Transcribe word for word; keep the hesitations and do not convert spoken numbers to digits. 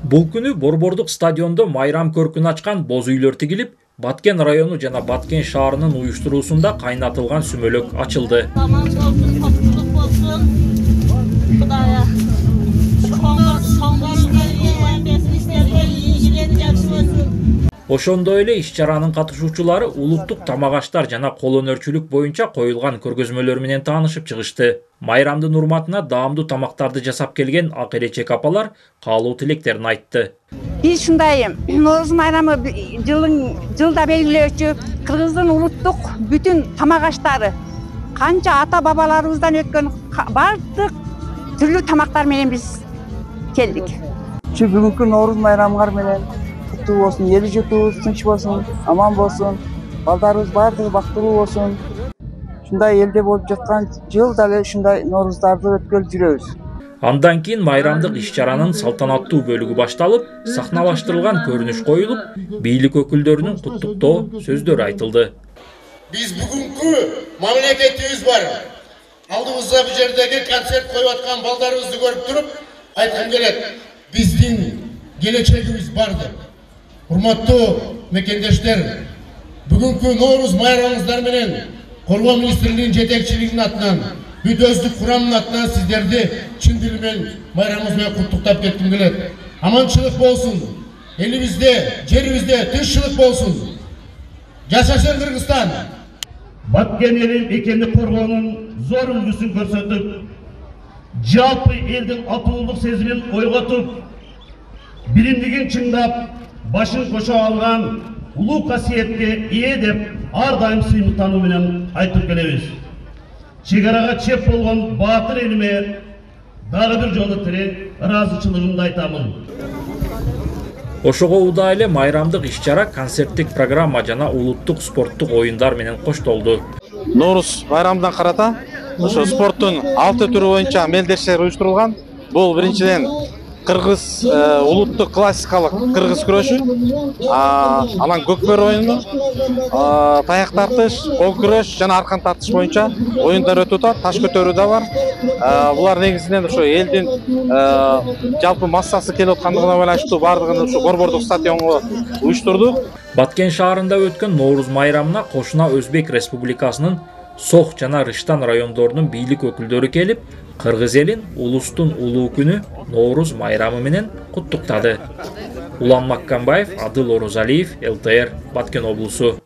Бул күнү Борбордук стадиондо майрам көркүн ачкан боз үйлөр тигилип, Баткен району жана Баткен шаарынын уюштуруусунда кайнатылган сүмөлөк ачылды. Ошондой эле иш-чаранын катышуучулары улуттук тамак-аштар жана кол өнөрчүлүк боюнча коюлган көргөзмөлөр менен таанышып чыгышты. Майрамдын урматына даамдуу тамактарды жасап келген ак-элечек апалар каалоо тилектерин айтты. Биз ушундай Нооруз майрамы жылын жылда белгилөөчү Кыргыздын улуттук бүтүн тамак-аштары, канча ата-бабаларыбыздан өткөн бардык түрлүү тамактар менен биз келдик. Ушу бүгүнкү Нооруз майрамыңар менен куттуу болсун, эл журтубуз тынч болсун, аман болсун, балдарыбыз бардыгы бактылуу болсун. Ушундай элде болуп жаткан жылда эле ушундай Норуздарды өткөрүп жүрөбүз. Андан кийин майрамдык иш-чаранын салтанаттуу бөлүгү башталып, сахналаштырылган көрүнүш коюлуп, бийлик өкүлдөрүнүн куттуктоо сөздөрү айтылды. Биз бүгүнкү мамлекетибиз бар. Алдыбызда бул жердеги концерт коюп аткан балдарыбызды көрүп туруп, айткым келет. Биздин келечегибиз барды. Урматтуу мекендештер, бүгүнкү Нооруз майрамыңыздар менен Коргоо министрлигинин жетекчилигинин атынан, бүт өздүк курамынын атынан сиздерди чын дил менен майрамыңыз менен куттуктап кетким келет. Аманчылык болсун. Элибизде, жерибизде тынччылык болсун. Жашашын Кыргызстан. Баткен элин экени коргоонун зор үлгүсүн көрсөтүп, жалпы элдин атуулук сезимин ойготуп, биримдигин чыңдап, башын кошо алган улуу касиетке ээ деп ар дайым сыймыктануу менен айтып келебиз. Чегарага чеп болгон баатыр элиме дагы бир жолу терең ыраазычылыгымды айтамын. Ошого удаа эле майрамдык иш-чара концерттик программа жана улуттук спорттук оюндар менен коштолду. Нооруз майрамына карата ошо спорттун алты түрү боюнча мелдештер уюштурулган. Бул биринчиден кыргыз улуттук классикалык кыргыз күрөшү, анан көкбөр оюну, таяк тартыш, кол күрөш жана аркан тартыш боюнча оюндар өтүп атат. Таш көтөрүү да бар. Булар негизинен ошо элдин жалпы массасы келип аткандыгына байланыштуу бардыгын ушу Борбордук стадионго уюштурдук. Баткен шаарында өткөн Нооруз майрамына кошуна Өзбек Республикасынын Сох жана Рыштан райондорунун бийлик өкүлдөрү келип, кыргыз элин улустун улуу күнү Нооруз майрамы менен куттуктады. Улан Маккамбаев, Адыл Орозалиев, эл тэ эр, Баткен облусу.